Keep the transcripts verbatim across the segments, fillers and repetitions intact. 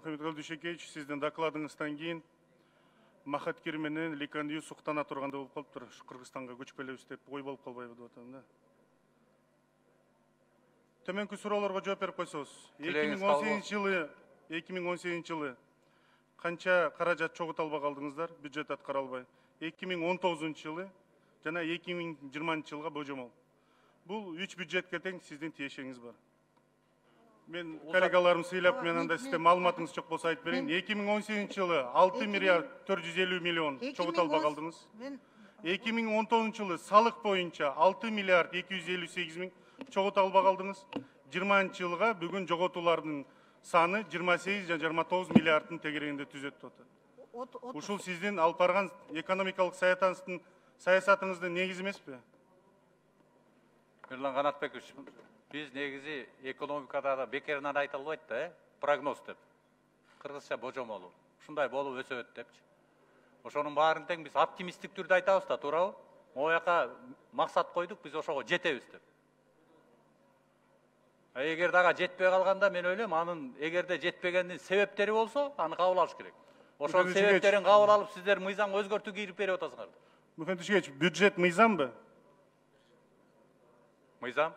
Мухаммедкалый Дүйшекеевич, сиздин докладыңыздан кийин Махаткер менен Ликандию суктана турганда болуп калыптыр. Кыргызстанга көчүп келебиз деп ой болуп калбайбы деп атам да. Төмөнкү суроолорго жооп берип койсоңуз. эки миң он сегизинчи жылы эки миң он сегизинчи жылы канча каражат чогулта албай калдыңыздар, бюджет аткара албай. эки миң он тогузунчу жылы жана эки миң жыйырманчы жылга божомол. Бул үч бюджетке тең сиздин тиешеңиз бар. Мен коллегаларым сыйлап, мен анда сизде маалыматыңыз жок болсо айтып берейин. эки миң он сегизинчи жылы алты миллиард төрт жүз элүү миллион чогулта албай калдыңыз. эки миң он тогузунчу жылы салык боюнча алты миллиард эки жүз элүү сегиз миң чогулта албай калдыңыз. жыйырманчы жылга бүгүн жоготуулардын саны жыйырма сегиз жана жыйырма тогуз миллиарддын тегерегинде түзөт деп атат. Ушул сиздин алып барган экономикалык саясатыңыздын саясатыңыздын негизи эмеспи? Мирлан Канатбекович, биз негизи экономикада да бекеринен айта албайт да, э? Прогноз деп. Кыргызча божомолу. Ушундай болуп өсөт депчи. Ошонун баарын тең биз оптимисттик түрдө айтабыз да, туурабы? Могу жака максат койдук, биз ошого жетебиз деп. Эгер дагы жетпей калганда мен ойлойм, анын эгерде жетпегендин себептери болсо, аны кабыл алыш керек. Ошонун себептерин кабыл алып, сиздер мыйзамга өзгөртүү кирип берип атасыңар. Мухаммед Дүйшекеевич, бюджет мыйзамбы? Мыйзам?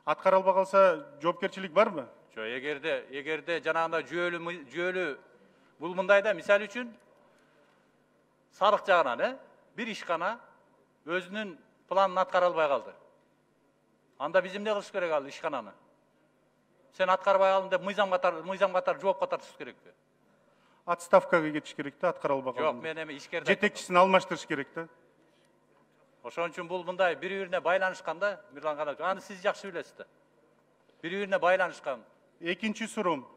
Аткара албай калса жоопкерчилик барбы? Жок, эгерде эгерде жанагындай жүйөлүү жүйөлүү бул мындай да, мисалы үчүн салык жагынан, э, бир ишкана өзүнүн планын аткара албай калды. Анда биз эмне кылыш керек ал ишкананы? Сен аткарбай калдың деп мыйзам катар мыйзам катар жоопко тартыш керекпи? Отставкага кетиш керек да, аткара албай калганда. Жок, мен эми ишкерде жетекчисин алмаштырыш керек да. Ошон үчүн бул мындай бири-бирине байланышкан да, Мирлан Канатбекович. Аны сиз жакшы билесиз да. Бири-бирине байланышкан. Экинчи суроом.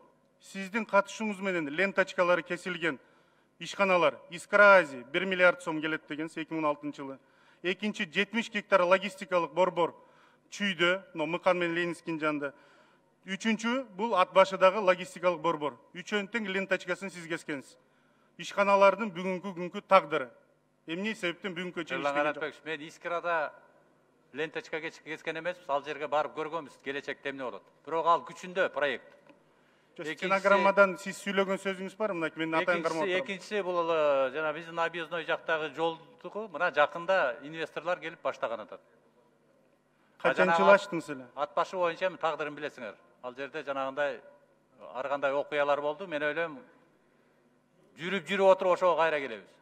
Сиздин катышуңуз менен ленточкалары кесилген ишканалар Искра Азия бир миллиард сом келет дегенсиз эки миң он алтынчы жылы. Экинчи жетимиш гектар логистикалык борбор Чүйдө, но Мыкан менен Ленинскийдин жанында. Үчүнчү бул ат башыдагы логистикалык борбор. Үчөөнүн тең ленточкасын сиз кескенсиз. Ишканалардын бүгүнкү күnkү тагдыры. Эмне себептен бүгүнкү чейин иштеген жок? Мен Искрада ленточка кескен эмеспиз, ал жерге барып көргөнбүз, келечекте эмне болот. Бирок ал күчүндө проект. Стенограммадан сиз сүйлөгөн сөзүңүз бар, мына мен атайын кармап атам. Экинчиси бул жана биздин объездной жактагы жолду мына жакында инвесторлор келип баштаган атат. Качан жыл ачтыңыз эле? Ат башы боюнча тагдырын билесиңер. Ал жерде жанагындай ар кандай окуялар болду. Мен ойлойм, жүрүп-жүрүп отуруп ошого кайра келебиз.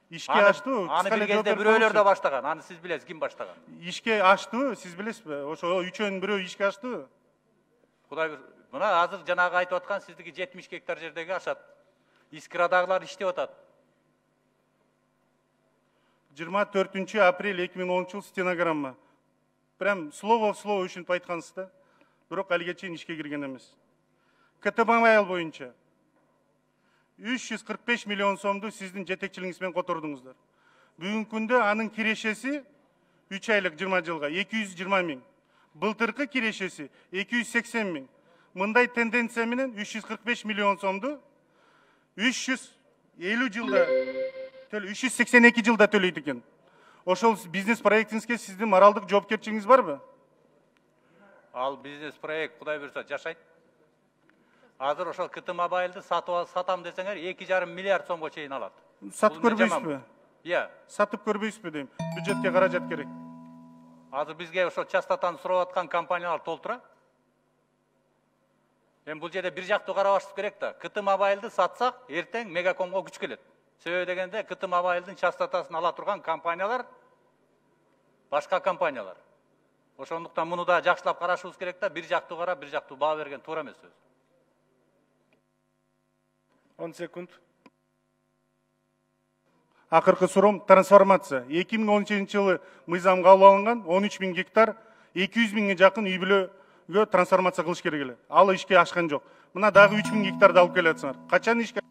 Ишке аштыбы? Аны бир кезде бирөөлөр да баштаган. Аны сиз билесиз, ким баштаган? Ишке аштыбы? Сиз билесизби? Ошо үчөөнүн бирөө ишке аштыбы? Кудай бир. Мына азыр жанагы айтып аткан сиздики жетимиш гектар жердеги ашат. Искрадагылар иштеп атат. жыйырма төртүнчү апрель эки миң онунчу жыл стенограмма. Прям слово в слово ушинтип айткансыз да. Бирок алиге чейин ишке кирген эмес. КТМобайл боюнча үч жүз кырк беш миллион сомду сиздин жетекчилигиңиз менен котордуңуздар. Бүгүнкү күндө анын кирешеси үч айлык жыйырма жылга эки жүз жыйырма миң. Былтыркы кирешеси эки жүз сексен миң. Мындай тенденция менен үч жүз кырк беш миллион сомду үч жүз элүү жылда үч жүз сексен эки жылда төлөйт экен. Ошол бизнес проектиңизге сиздин моралдык жоопкерчилигиңиз барбы? Ал бизнес проект Кудай буйрса жашайт. Азыр ошол КТМобайлды сатып сатам десеңер эки жарым миллиард сомго чейин алат. Сатып көрбөйсүзбү? Иә. Сатып көрбөйсүзбү дейм. Бюджетке каражат керек. Азыр бизге ошол частотаны сурап аткан компаниялар толтура. Эми бул жерде бир жактуу карабашыбыз керек да. КТМобайлды сатсак, эртең Мегакомго күч келет. Себеби дегенде КТМобайлдын частотасын ала турган компаниялар башка компаниялар. Ошондуктан муну да жакшылап карашыбыз керек да, бир жактуу карап, бир жактуу баа берген туура эмес сөз. он секунд. Акыркы суроом трансформация. эки миң он сегизинчи жылы мыйзам кабыл алынган он үч миң гектар эки жүз миңге жакын үй бүлөгө трансформация кылыш керек эле. Ал ишке ашкан жок. Мына дагы үч миң гектарды алып келатсыңар. Качан ишке?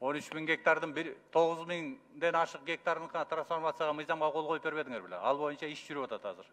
он үч миң гектардын тогуз миңден ашык гектарын трансформацияга мыйзамга кол коюп бербедиңер беле? Ал боюнча иш жүрүп атат азыр.